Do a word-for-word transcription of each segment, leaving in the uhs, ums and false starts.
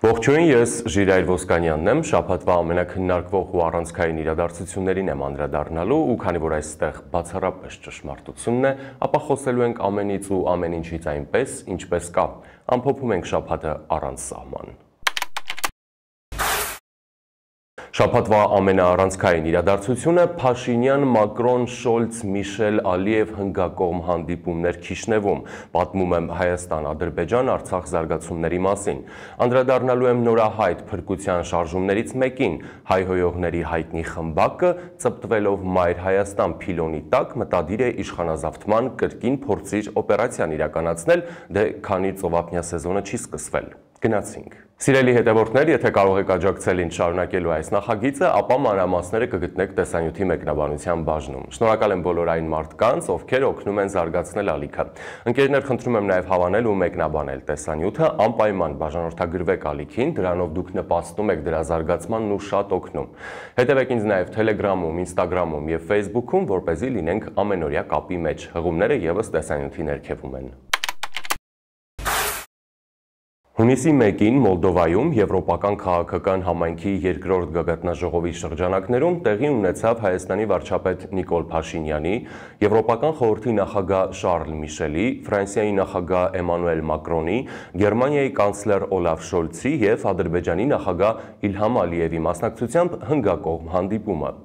Ողջույն, ես Ժիրայր Ոսկանյանն եմ, շաբաթվա ամենաքննարկվող ու առանցքային իրադարձություններին եմ անդրադառնալու ու քանի որ այստեղ բացառապես ճշմարտությունն է, ապա խոսելու ենք ամենից ու ամեն ինչից այնպես, ինչպես կա, ամփոփում ենք շաբաթը առանց սահման։ Շաբաթվա ամենաառանցքային իրադարձությունը Փաշինյան, Մակրոն, Շոլց, Միշել, Ալիև հնգակողմ հանդիպումներ Քիշնևում, պատմում եմ Հայաստան-Ադրբեջան Արցախ զարգացումների մասին։ Անդրադառնալու եմ նորահայտ փրկության շարժումներից մեկին, հայհոյողների հայտնի խմբակը, ծպտվելով Մայր Հայաստան փիլոնի տակ, մտադիր է իշխանազավթման կրկին փորձիր օպերացիան իրականացնել, դե քանի ծովափնյա սեզոնը չի սկսվել։ Գնացինք։ Սիրելի հետևորդներ, եթե կարող եք աջակցել ինձ շարունակելու այս նախագիծը, ապա մանրամասները կգտնեք տեսանյութի մեկնաբանության բաժնում։ Շնորհակալ եմ բոլոր այն մարդկանց, ովքեր օգնում են զարգացնել ալիքը։ Ընկերներ, խնդրում եմ նաև հավանել ու մեկնաբանել տեսանյութը, անպայման բաժանորդագրվեք ալիքին, դրանով դուք նպաստում եք դրա զարգացմանն ու շատ օգնում։ Հետևեք ինձ նաև Telegram-ում, Instagram-ում եւ Facebook-ում, որպեսզի լինենք ամենօրյա կապի մեջ։ Հղումները եւս տեսանյութի ներքևում են։ Հունիսի մեկին Մոլդովայում Եվրոպական քաղաքական համայնքի երկրորդ գագաթնաժողովի շրջանակներում տեղի ունեցավ Հայաստանի վարչապետ Նիկոլ Փաշինյանի, Եվրոպական խորհրդի նախագահ Շարլ Միշելի, Ֆրանսիայի նախագահ Էմանուել Մակրոնի, Գերմանիայի կանցլեր Օլաֆ Շոլցի եւ Ադրբեջանի նախագահ Իլհամ Ալիևի մասնակցությամբ հնգակողմ հանդիպումը։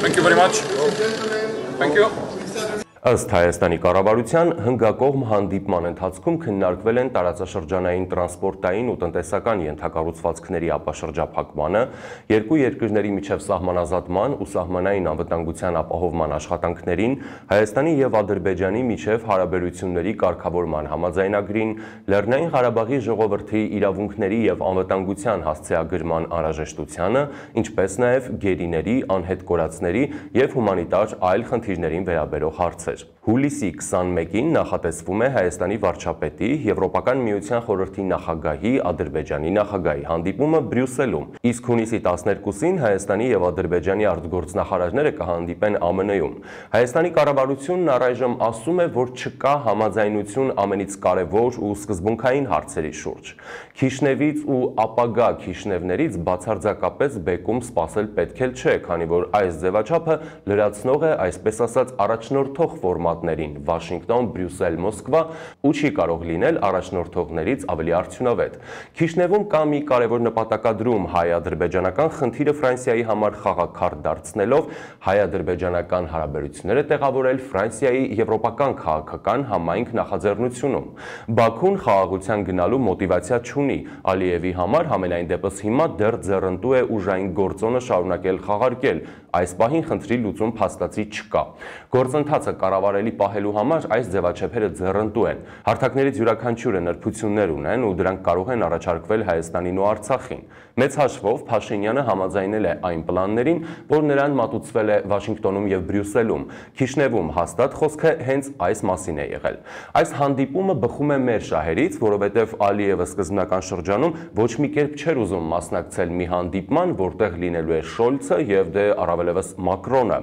Thank you very much. Thank you. Ըստ Հայաստանի կառավարության հնգակողմ հանդիպման ընթացքում քննարկվել են տարածաշրջանային տրանսպորտային ու տնտեսական ենթակառուցվածքների ապաշրջափակմանը, երկու երկրների միջև սահմանազատման ու սահմանային անվտանգության ապահովման աշխատանքներին, Հայաստանի եւ Ադրբեջանի միջև հարաբերությունների կարգավորման համաձայնագրին, Լեռնային Ղարաբաղի ժողովրդի իրավունքների եւ անվտանգության հասցեագրման անհրաժեշտությանը, ինչպես նաեւ գերիների, անհետ կորածների եւ հումանիտար այլ խնդիրներին վերաբերող հարցեր։ Հուլիսի քսանմեկին նախատեսվում է Հայաստանի վարչապետի, Եվրոպական միության խորհրդի նախագահի, Ադրբեջանի նախագահի հանդիպումը Բրյուսելում, իսկ հունիսի տասներկուսին Հայաստանի եւ Ադրբեջանի արտգործնախարարները կհանդիպեն Α Մն Ում։ Հայաստանի կառավարությունն առայժմ ասում է, որ չկա համաձայնություն ամենից կարևոր ու սկզբունքային հարցերի շուրջ։ Քիշնևից ու ապագա Քիշնևներից բացարձակապես բեկում սպասել պետք էլ չէ, քանի որ այս ձևաչափը լրացնող է, այսպես ասած, առաջնորդող ֆորմատներին Վաշինգտոն, Բրյուսել, Մոսկվա ու չի կարող լինել առաջնորդողներից ավելի արդյունավետ։ Քիշնևում կա մի կարևոր նպատակադրում հայ-ադրբեջանական խնդիրը Ֆրանսիայի համար խաղաքարտ դարձնելով հայ-ադրբեջանական հարաբերությունները տեղավորել Ֆրանսիայի եվրոպական քաղաքական համայնք նախաձեռնությունում։ Բաքուն խաղաղության գնալու մոտիվացիա չունի, Ալիևի համար համենայն դեպս հիմա դեռ ձեռնտու է ուժային գործոնը շարունակել խաղարկել, այս պահին խնդրի լուծում փաստացի չկա։ Գործընթացը կառավարելի պահելու համար այս ձևաչափերը ձեռնտու են։ Հարթակներից յուրաքանչյուրը նրբություններ ունեն ու դրանք կարող են առաջարկվել Հայաստանին ու Արցախին։ Մեծ հաշվով Փաշինյանը համաձայնել է այն պլաններին, որ նրան մատուցվել է Վաշինգտոնում եւ Բրյուսելում։ Քիշնևում հաստատ խոսքը հենց այս մասին է եղել։ Այս հանդիպումը բխում է մեր շահերից, որովհետեւ Ալիևը սկզբնական շրջանում ոչ մի կերպ չէր ուզում մասնակցել մի հանդիպման, որտեղ լինելու է Շոլցը եւ դե առավելևս Մակրոնը։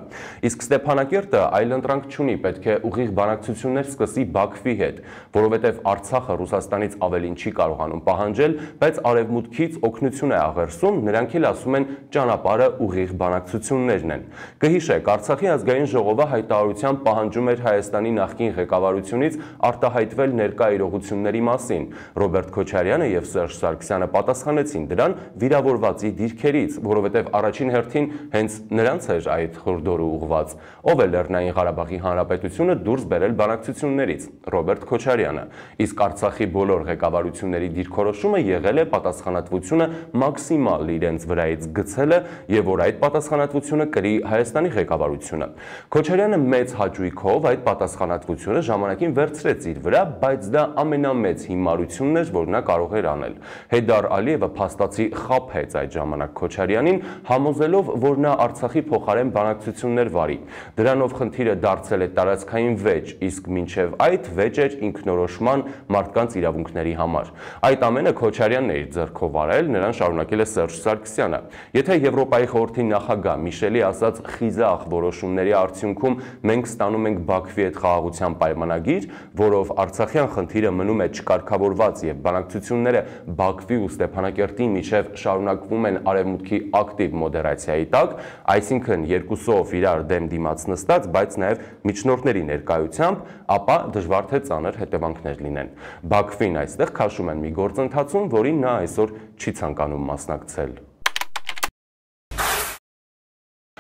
Իսկ Ստեփանակերտը այլընտրանք չունի, պետք է ուղիղ բանակցություններ սկսի Բաքվի հետ, որովհետև Արցախը Ռուսաստանից ավելին չի կարողանում պահանջել, բայց արևմուտքից օգնություն է աղերսում, նրանք էլ ասում են ճանապարհը ուղիղ բանակցություններն են։ Կհիշեք, Արցախի ազգային ժողովը հայտարարությամբ պահանջում էր Հայաստանի նախկին ղեկավարությունից արտահայտվել ներկա իրողությունների մասին։ Ռոբերտ Քոչարյանը եւ Սերժ Սարգսյանը պատասխանեցին դրան վիրավորվածի դիրքերից, որովհետև առաջին հերթին հենց նրանց էր այդ խորհրդորը ուղված։ Ով է Լեռնային Ղարաբաղի Հանրապետությունը դուրս բերել բանակցություններից, Ռոբերտ Քոչարյանը, իսկ Արցախի բոլոր ղեկավարությունների դիրքորոշումը եղել է պատասխանատվությունը մաքսիմալ իրենց վրայից գցելը եւ որ այդ պատասխանատվությունը կրի Հայաստանի ղեկավարությունը։ Քոչարյանը մեծ հաճույքով այդ պատասխանատվությունը ժամանակին վերցրեց իր վրա, բայց դա ամենամեծ հիմարությունն էր, որ նա կարող էր անել։ Հեյդար Ալիևը փաստացի խաբեց այդ ժամանակ Քոչարյանին, համոզելով, որ նա Արցախի փոխարեն բանակցություններ վարի։ Դրանով խնդիրը դարձել է տարածքային վեճ, իսկ մինչև այդ վեճ էր ինքնորոշման մարդկանց իրավունքների համար։ Այդ ամենը Քոչարյանն էր ձեռքով արել, նրան շարունակել է Սերժ Սարգսյանը։ Եթե Եվրոպայի խորհրդի նախագահ Միշելի ասած խիզախ որոշումների արդյունքում մենք ստանում ենք Բաքվի հետ խաղաղության պայմանագիր, որով Արցախյան խնդիրը մնում է չկարգավորված եւ բանակցությունները Բաքվի ու Ստեփանակերտի միջև շարունակվում են արևմուտքի ակտիվ մոդերացիայի տակ, այսինքն երկուսով իրար դեմ դիմաց նստած, բայց նաեւ միջնորդների ներկայությամբ, ապա դժվար թե ծանր հետևանքներ լինեն։ Բաքվին այստեղ քաշում են մի գործընթացում, որին նա այսօր չի ցանկանում մասնակցել։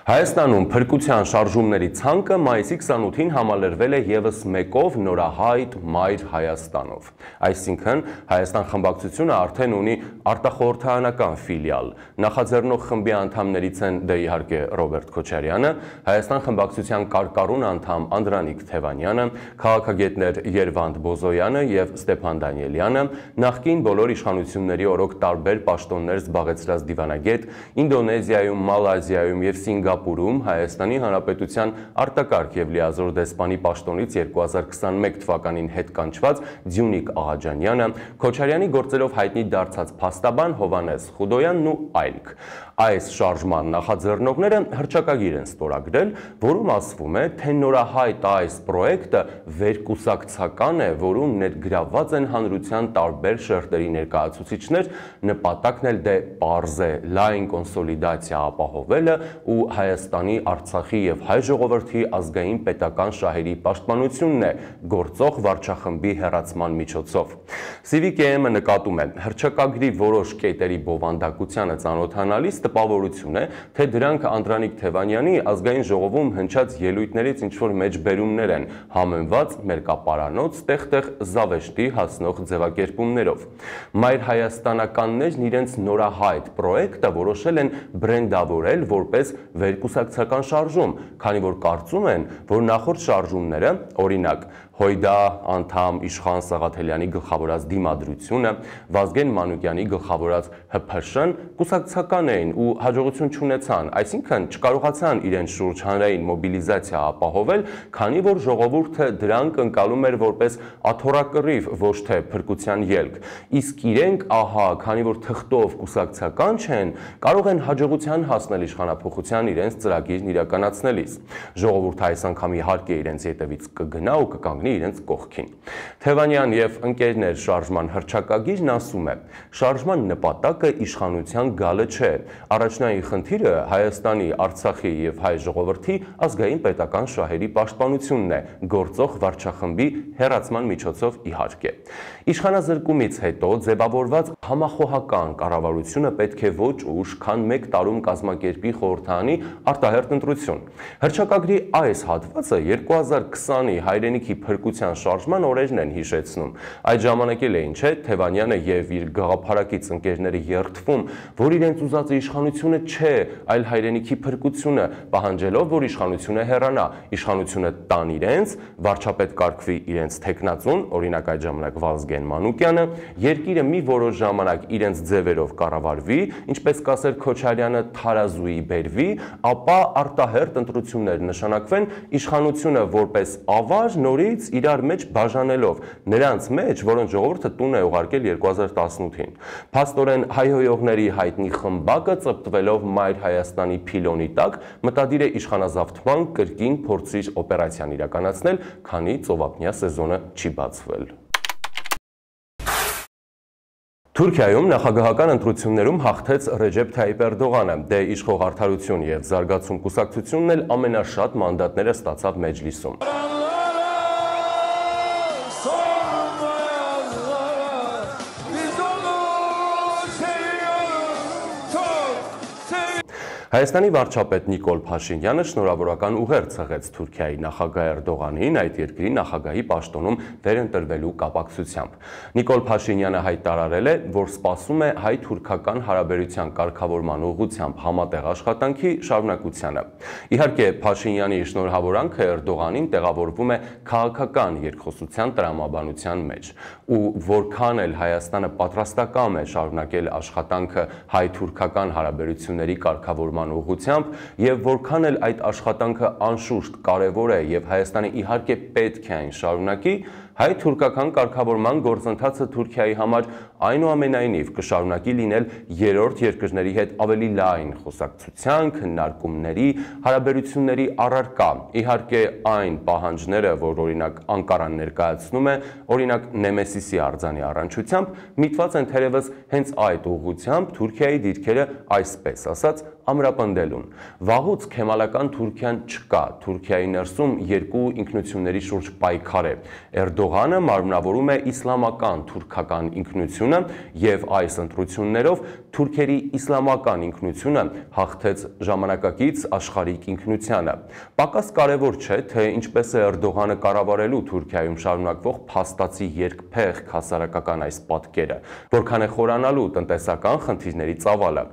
Հայաստանում փրկության շարժումների ցանկը մայիսի քսանութին համալրվել է եւս մեկով նորահայտ Մայր Հայաստանով։ Այսինքն Հայաստան խմբակցությունը արդեն ունի արտախորհրդարանական ֆիլիալ։ Նախաձեռնող խմբի անդամներից են դե իհարկե Ռոբերտ Քոչարյանը, Հայաստան խմբակցության կարկառուն անդամ Անդրանիկ Թևանյանը, քաղաքագետներ Երվանդ Բոզոյանը եւ Ստեփան Դանիելյանը, նախկին բոլոր իշխանությունների օրոք տարբեր պաշտոններ զբաղեցրած դիվանագետ, Ինդոնեզիայում, Մալազիայում եւ Սինգապուրում Հայաստանի Հանրապետության արտակարգ եւ լիազոր դեսպանի պաշտոնից երկու հազար քսաներկու թվականին հետ կանչված Ձյունիկ Աղաջանյանը, Քոչարյանի գործերով հայտնի դարձած փաստաբան Հովհաննես Խուդոյանն ու այլք։ Այս շարժման նախաձեռնողները հռչակագիր են ստորագրել, որում ասվում է, թե նորահայտ այս պրոյեկտը վերկուսակցական է, որում ներգրավված են հանրության տարբեր շերտերի ներկայացուցիչներ, նպատակն էլ դե պարզ է լայն կոնսոլիդացիա ապահովելը ու Հայաստանի, Արցախի եւ հայ ժողովրդի ազգային պետական շահերի պաշտպանությունն է գործող վարչախմբի հեռացման միջոցով։ Civic-ը նկատում է հռչակագրի որոշ կետերի բովանդակությանը ծանոթանալիս տպավորություն է, թե դրանք Անդրանիկ Թևանյանի ազգային ժողովում հնչած ելույթներից ինչ-որ մեջբերումներ են, համեմված մերկապարանոց տեղ-տեղ զավեշտի հասնող ձևակերպումներով։ Մայր հայաստանականներն իրենց նորահայտ պրոյեկտը որոշել են բրենդավորել որպես վերկուսակցական շարժում, քանի որ կարծում են, որ նախորդ շարժումները, օրինակ Հույդա անդամ Իշխան Սաղաթելյանի գլխավորած դիմադրությունը, Վազգեն Մանուկյանի գլխավորած Հ Փ Շ-ն կուսակցական էին ու հաջողություն չունեցան, այսինքն չկարողացան իրենց շուրջ հանրային մոբիլիզացիա ապահովել, քանի որ ժողովուրդը դրանք ընկալում էր որպես աթոռակռիվ, ոչ թե փրկության ելք։ Իսկ իրենք, ահա, քանի որ թղթով կուսակցական չեն, կարող են հաջողության հասնել իշխանափոխության իրենց ծրագիրն իրականացնելիս։ Ժողովուրդը այս անգամ իհարկե իրենց ետևից կգնա ու կկանգնի իրենց կողքին։ Թևանյան եւ ընկերներ շարժման հռչակագիրն ասում է. շարժման նպատակը իշխանության գալը չէ։ Առաջնային խնդիրը Հայաստանի, Արցախի եւ հայ ժողովրդի ազգային պետական շահերի պաշտպանությունն է, գործող վարչախմբի հեռացման միջոցով իհարկե։ Իշխանազրկումից հետո ձևավորված համախոհական կառավարությունը պետք է ոչ ուշ, քան մեկ տարում կազմակերպի խորհրդարանի արտահերթ ընտրություն։ Հռչակագրի այս հատվածը երկու հազար քսանի հայրենիքի փրկության շարժման օրերն են հիշեցնում։ Այդ ժամանակ էլ էին, չէ, Թևանյանը եւ իր գաղափարակից ընկերները երդվում, որ իրենց ուզածը իշխանությունը չէ, այլ հայրենիքի փրկությունը, պահանջելով, որ իշխանությունը հեռանա, իշխանությունը տան իրենց, վարչապետ կարգվի իրենց թեկնածուն, օրինակ այդ ժամանակ Վազգեն Մանուկյանը, երկիրը մի որոշ ժամանակ իրենց ձևերով կառավարվի, ինչպես կասեր Քոչարյանը, թարազուի բերվի, ապա արտահերթ ընտրություններ նշանակվեն, իշխանությունը որպես ավար նորից իրար մեջ բաժանելով, նրանց մեջ, որոնց ժողովուրդը տուն է ուղարկել երկու հազար տասնութին։ Փաստորեն հայհոյողների հայտնի խմբակը ծպտվելով Մայր Հայաստանի փիլոնի տակ մտադիր է իշխանազավթման կրկին փորձիչ օպերացիան իրականացնել, քանի ծովափնյա սեզոնը չի բացվել։ Թուրքիայում նախագահական ընտրություններում հաղթեց Ռեջեփ Թայիպ Էրդողանը, դե իշխող Արդարություն եւ Զարգացում կուսակցությունն էլ ամենաշատ մանդատները ստացավ Մեջլիսում։ Հայաստանի վարչապետ Նիկոլ Փաշինյանը շնորհավորական ուղեր ցեղեց Թուրքիայի նախագահ Էրդողանին այդ երկրի նախագահի պաշտոնում վերընտրվելու կապակցությամբ։ Նիկոլ Փաշինյանը հայտարարել է, որ սպասում է հայ-թուրքական հարաբերության կարգավորման ուղղությամբ համատեղ աշխատանքի շարունակությանը։ Իհարկե, Փաշինյանի շնորհավորանքը Էրդողանին տեղավորվում է քաղաքական երկխոսության տրամաբանության մեջ, ու որքան էլ Հայաստանը պատրաստակամ է շարունակել աշխատանքը հայ-թուրքական հարաբերությունների կարգավորման կառավարման ուղղությամբ եւ որքան էլ այդ աշխատանքը անշուշտ կարեւոր է եւ Հայաստանը իհարկե պետք է այն շարունակի, հայ-թուրքական կարգավորման գործընթացը Թուրքիայի համար այնուամենայնիվ կշարունակի լինել երրորդ երկրների հետ ավելի լայն խոսակցության, քննարկումների, հարաբերությունների առարկա։ Իհարկե այն պահանջները, որ օրինակ Անկարան ներկայացնում է, օրինակ Նեմեսիսի արձանի առնչությամբ, միտված են թերևս հենց այդ ուղղությամբ Թուրքիայի դիրքերը այսպես ասած ամրապնդելուն։ Վաղուց քեմալական Թուրքիան չկա, Թուրքիայի ներսում երկու ինքնությունների շուրջ պայքար է։ Էրդողանը մարմնավորում է իսլամական թուրքական ինքնությունը եւ այս ընտրություններով թուրքերի իսլամական ինքնությունը հաղթեց ժամանակակից աշխարհիկ ինքնությանը։ Պակաս կարևոր չէ, թե ինչպես է Էրդողանը կառավարելու Թուրքիայում շարունակվող փաստացի երկփեղ հասարակական այս պատկերը, որքան է խորանալու տնտեսական խնդիրների ծավալը։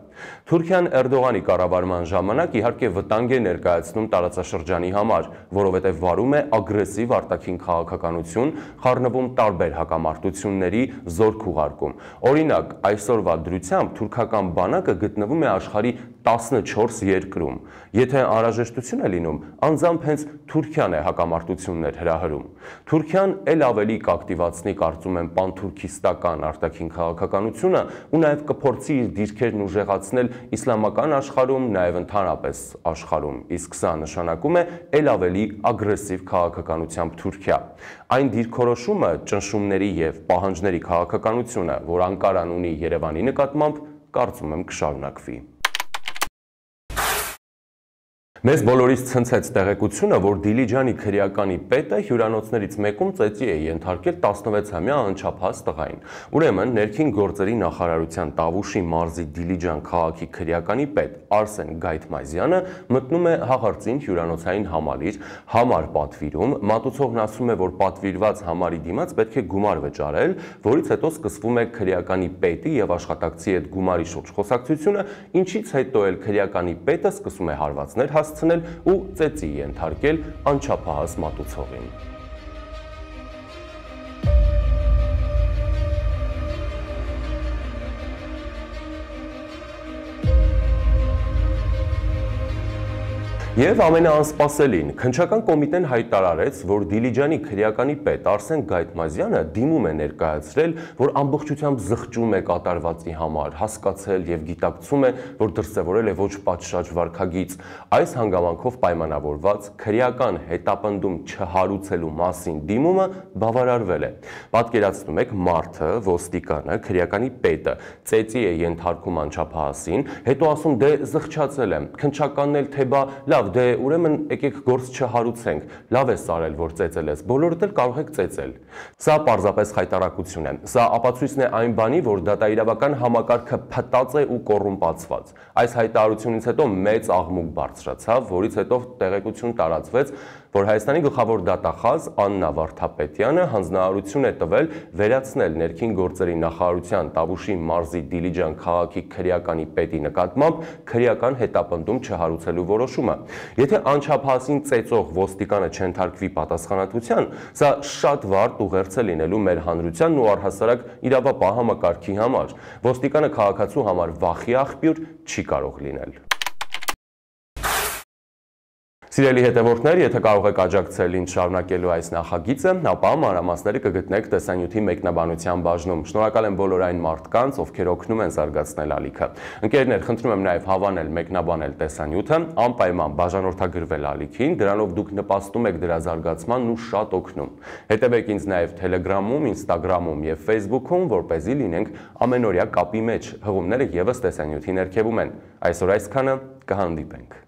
Թուրքիան Էրդողանի կառավարման ժամանակ իհարկե վտանգ է ներկայացնում տարածաշրջանի համար, որովհետև վարում է ագրեսիվ արտաքին քաղաքականություն, խառնվում տարբեր հակամարտությունների, զորք ուղարկում։ Օրինակ, այսօրվա դրությամբ թուրքական բանակը գտնվում է աշխարհի տասնչորս երկրում։ Եթե անհրաժեշտություն է լինում, անձամբ հենց Թուրքիան է հակամարտություններ հրահրում։ Թուրքիան ել ավելի կակտիվացնի, կարծում եմ, պանթուրքիստական արտաքին քաղաքականությունը ու նաև կփորձի իր դիրքերն ուժեղացնել իսլամական աշխարհում, նաև ընդհանրապես աշխարհում, իսկ սա նշանակում է ել ավելի ագրեսիվ քաղաքականությամբ Թուրքիա։ Այն դիրքորոշումը, ճնշումների եւ պահանջների քաղաքականությունը, որ Անկարան ունի Երևանի նկատմամբ, կարծում եմ կշարունակվի։ Մեզ բոլորից ցնցեց տեղեկությունը, որ Դիլիջանի քրեականի պետը հյուրանոցներից մեկում ծեծի է ենթարկել տասնվեցամյա անչափահաս տղային։ Ուրեմն ներքին գործերի նախարարության Տավուշի մարզի Դիլիջան քաղաքի քրեականի պետ Արսեն Գայթմազյանը մտնում է հաղարծին հյուրանոցային համալիր, համար պատվիրում, մատուցողն ասում է, որ պատվիրված համարի դիմաց պետք է գումար վճարել, որից հետո սկսվում է քրեականի պետի եւ աշխատակցի հետ գումարի շուրջ խոսակցությունը, ինչից հետո էլ քրեականի պետը սկսում է հարվածներ հասցնել ու ծեծի ենթարկել անչափահաս մատուցողին։ Եվ ամենաանսպասելին, քննչական կոմիտեն հայտարարեց, որ Դիլիջանի քրեականի պետ Արսեն Գայթմազյանը դիմում է ներկայացրել, որ ամբողջությամբ զղջում է կատարվածի համար, հասկացել եւ գիտակցում է, որ դրսեւորել է ոչ պատշաճ վարքագիծ։ Այս հանգամանքով պայմանավորված քրեական հետապնդում չհարուցելու մասին դիմումը բավարարվել է։ Պատկերացնում եք, մարդը, ոստիկանը, քրեականի պետը ծեծի է ենթարկում անչափահասին, հետո ասում դե զղջացել եմ, քննչականն էլ թե բա լավ դե ուրեմն եկեք գործ չհարուցենք, լավ է սարել, որ ծեծել ես, բոլորդ էլ կարող եք ծեծել։ Սա պարզապես խայտարակություն է, սա ապացույցն է այն բանի, որ դատաիրավական համակարգը փտած է ու կոռումպացված։ Այս հայտարարությունից հետո մեծ աղմուկ բարձրացավ, որից հետո տեղեկություն տարածվեց, որ Հայաստանի գլխավոր դատախազ Աննա Վարդապետյանը հանձնարարություն է տվել վերացնել ներքին գործերի նախարարության Տավուշի մարզի Դիլիջան քաղաքի քրեականի պետի նկատմամբ քրեական հետապնդում չհարուցելու որոշումը։ Եթե անչափահասին ծեծող ոստիկանը չենթարկվի պատասխանատվության, սա շատ վառ ուղերձ է լինելու մեր հանրությանն ու առհասարակ իրավապահ համակարգի համար։ Ոստիկանը քաղաքացու համար վախի աղբյուր չի կարող լինել։ Սիրելի հետևորդներ, եթե կարող եք աջակցել ինձ շարունակելու այս նախագիծը, ապա մանրամասները կգտնեք տեսանյութի մեկնաբանության բաժնում։ Շնորհակալ եմ բոլոր այն մարդկանց, ովքեր օգնում են զարգացնել ալիքը։ Ընկերներ, խնդրում եմ նաև հավանել, մեկնաբանել տեսանյութը, անպայման բաժանորդագրվել ալիքին, դրանով դուք նպաստում եք դրա զարգացմանն ու շատ օգնում։ Հետևեք ինձ նաև Telegram-ում, Instagram-ում եւ Facebook-ում, որպեսզի լինենք ամենօրյա կապի մեջ։ Հղումները եւս տեսանյութի ներքևում են։ Այսօր այսքանը, կհանդիպենք։